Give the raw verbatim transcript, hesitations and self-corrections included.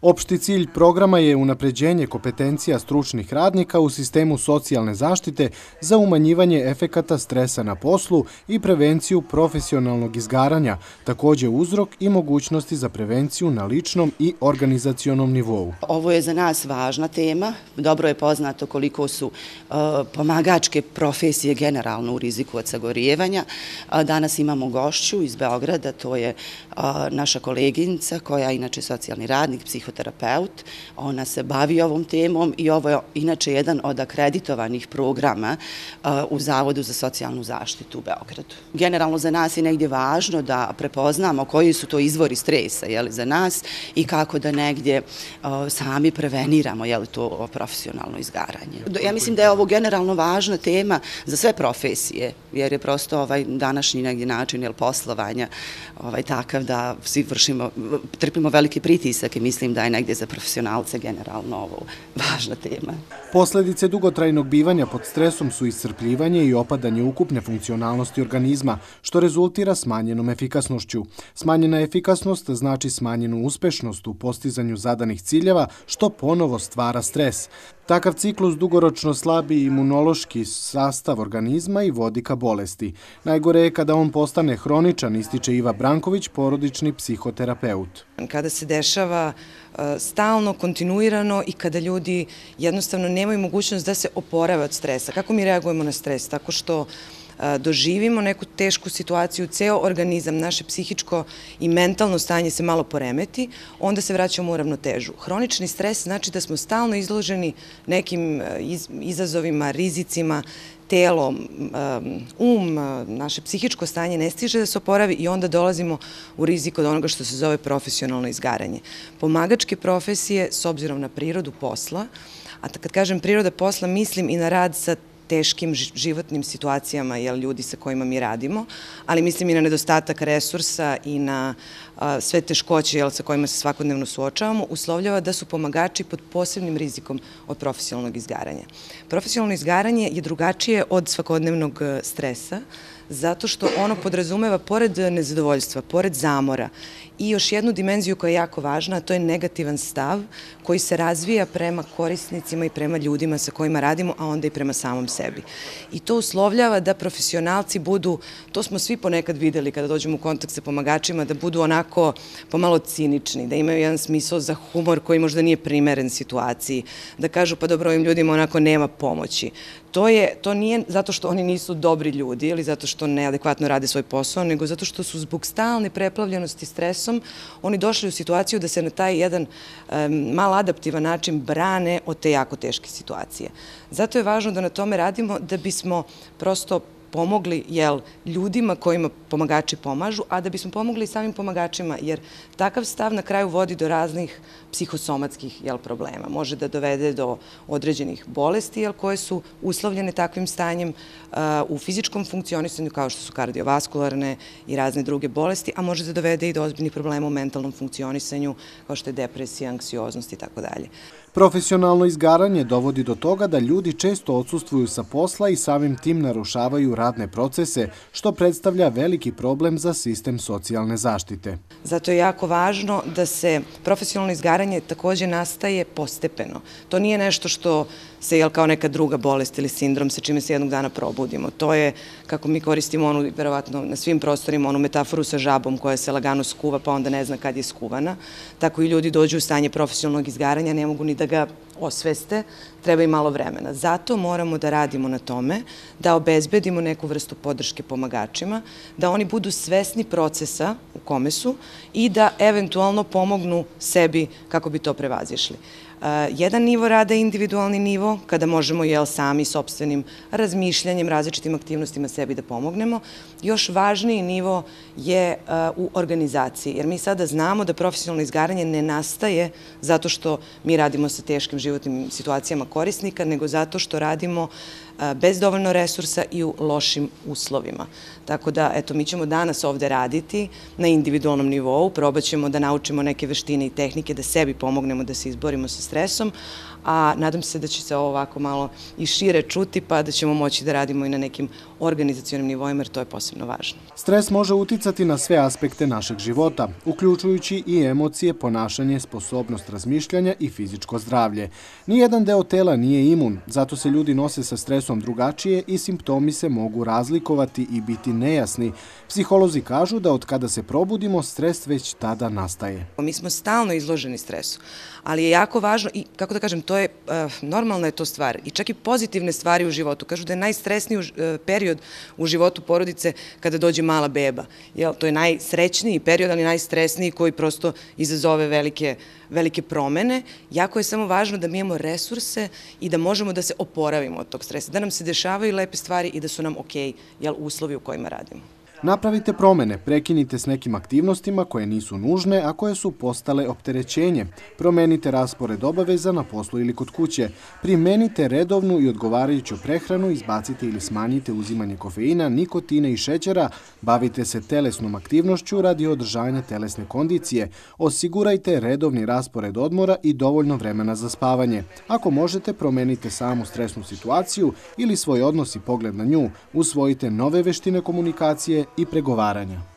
Opšti cilj programa je unapređenje kompetencija stručnih radnika u sistemu socijalne zaštite za umanjivanje efekata stresa na poslu i prevenciju profesionalnog izgaranja, također uzrok i mogućnosti za prevenciju na ličnom i organizacionom nivou. Ovo je za nas važna tema. Dobro je poznato koliko su uh, pomagačke profesije generalno u riziku od sagorijevanja. Uh, danas imamo gošću iz Beograda, to je uh, naša koleginica koja je inače socijalni radnik, psihoterapeut. Ona se bavi ovom temom i ovo je inače jedan od akreditovanih programa uh, u Zavodu za socijalnu zaštitu u Beogradu. Generalno za nas je negdje važno da prepoznamo koji su to izvori stresa jeli, za nas i kako da negdje uh, sami preveniramo jeli, to profesionalno izgaranje. Ja mislim da je ovo generalno važna tema za sve profesije, jer je prosto ovaj današnji negdje način jel, poslovanja ovaj, takav da svi vršimo, trpimo veliki pritisak i mislim da je negdje za profesionalce generalno ovo važna tema. Posljedice dugotrajnog bivanja pod stresom su iscrpljivanje i opadanje ukupne funkcionalnosti organizma, što rezultira smanjenom efikasnošću. Smanjena efikasnost znači smanjenu uspešnost u postizanju zadanih ciljeva, što ponovo stvara stres. Takav ciklus dugoročno slabi imunološki sastav organizma i vodi ka bolesti. Najgore je kada on postane hroničan, ističe Iva Branković, porodični psihoterapeut. Kada se dešava stalno, kontinuirano i kada ljudi jednostavno nemaju mogućnost da se oporave od stresa. Kako mi reagujemo na stres? Tako što doživimo neku tešku situaciju, ceo organizam, naše psihičko i mentalno stanje se malo poremeti, onda se vraćamo u ravnotežu. Hronični stres znači da smo stalno izloženi nekim izazovima, rizicima, telo, um, naše psihičko stanje ne stiže da se oporavi i onda dolazimo u rizik od onoga što se zove profesionalno izgaranje. Pomagačke profesije, s obzirom na prirodu posla, a kad kažem priroda posla, mislim i na rad sa teškim životnim situacijama jel, ljudi sa kojima mi radimo, ali mislim i na nedostatak resursa i na a, sve teškoće jel, sa kojima se svakodnevno suočavamo, uslovljava da su pomagači pod posebnim rizikom od profesionalnog izgaranja. Profesionalno izgaranje je drugačije od svakodnevnog stresa, zato što ono podrazumeva, pored nezadovoljstva, pored zamora, i još jednu dimenziju koja je jako važna, a to je negativan stav koji se razvija prema korisnicima i prema ljudima sa kojima radimo, a onda i prema samom sebi. I to uslovljava da profesionalci budu, to smo svi ponekad videli kada dođemo u kontakt sa pomagačima, da budu onako pomalo cinični, da imaju jedan smisao za humor koji možda nije primeren situaciji, da kažu pa dobro ovim ljudima onako nema pomoći. To, je, to nije zato što oni nisu dobri ljudi ili zato što neadekvatno rade svoj posao, nego zato što su zbog stalne preplavljenosti stresom oni došli u situaciju da se na taj jedan um, mal adaptivan način brane od te jako teške situacije. Zato je važno da na tome radimo da bismo prosto pomogli jel, ljudima kojima pomagači pomažu, a da bismo pomogli i samim pomagačima, jer takav stav na kraju vodi do raznih psihosomatskih jel, problema. Može da dovede do određenih bolesti jel, koje su uslovljene takvim stanjem uh, u fizičkom funkcionisanju, kao što su kardiovaskularne i razne druge bolesti, a može da dovede i do ozbiljnih problema u mentalnom funkcionisanju, kao što je depresija, anksioznost i tako dalje. Profesionalno izgaranje dovodi do toga da ljudi često odsustvuju sa posla i samim tim narušavaju radne procese, što predstavlja veliki problem za sistem socijalne zaštite. Zato je jako važno da se profesionalno izgaranje također nastaje postepeno. To nije nešto što se jel kao neka druga bolest ili sindrom sa čime se jednog dana probudimo. To je, kako mi koristimo onu, verovatno na svim prostorima, onu metaforu sa žabom koja se lagano skuva pa onda ne zna kad je skuvana. Tako i ljudi dođu u stanje profesionalnog izgaranja, ne mogu ni da ga osveste, treba i malo vremena. Zato moramo da radimo na tome, da obezbedimo neku vrstu podrške pomagačima, da oni budu svesni procesa u kome su i da eventualno pomognu sebi kako bi to prevazišli. Jedan nivo rada je individualni nivo, kada možemo jel, sami sopstvenim razmišljanjem, različitim aktivnostima sebi da pomognemo. Još važniji nivo je u organizaciji, jer mi sada znamo da profesionalno izgaranje ne nastaje zato što mi radimo sa teškim životnim situacijama korisnika, nego zato što radimo bez dovoljno resursa i u lošim uslovima. Tako da, eto, mi ćemo danas ovde raditi na individualnom nivou, probat ćemo da naučimo neke veštine i tehnike, da sebi pomognemo da se izborimo sa stresom, a nadam se da će se ovo ovako malo i šire čuti, pa da ćemo moći da radimo i na nekim organizacionim nivoima, jer to je posebno važno. Stres može uticati na sve aspekte našeg života, uključujući i emocije, ponašanje, sposobnost razmišljanja i fizičko zdravlje. Nijedan deo tela nije imun, zato se ljudi nose sa stresom drugačije i simptomi se mogu razlikovati i biti nejasni. Psiholozi kažu da od kada se probudimo, stres već tada nastaje. Mi smo stalno izloženi stresu, ali je jako važno i, kako da kažem, to je, normalna je to stvar i čak i pozitivne stvari u životu. Kažu da je najstresniji period u životu porodice kada dođe mala beba. To je najsrećniji period, ali najstresniji koji prosto izazove velike, velike promene. Jako je samo važno da mi imamo resurse i da možemo da se oporavimo od tog stresa, da nam se dešavaju lepe stvari i da su nam okej uslovi u kojima radimo. Napravite promene, prekinite s nekim aktivnostima koje nisu nužne, a koje su postale opterećenje. Promenite raspored obaveza na poslu ili kod kuće. Primenite redovnu i odgovarajuću prehranu, izbacite ili smanjite uzimanje kofeina, nikotina i šećera, bavite se telesnom aktivnošću radi održanja telesne kondicije. Osigurajte redovni raspored odmora i dovoljno vremena za spavanje. Ako možete, promenite samu stresnu situaciju ili svoj odnos i pogled na nju. Usvojite nove veštine komunikacije i pregovaranja.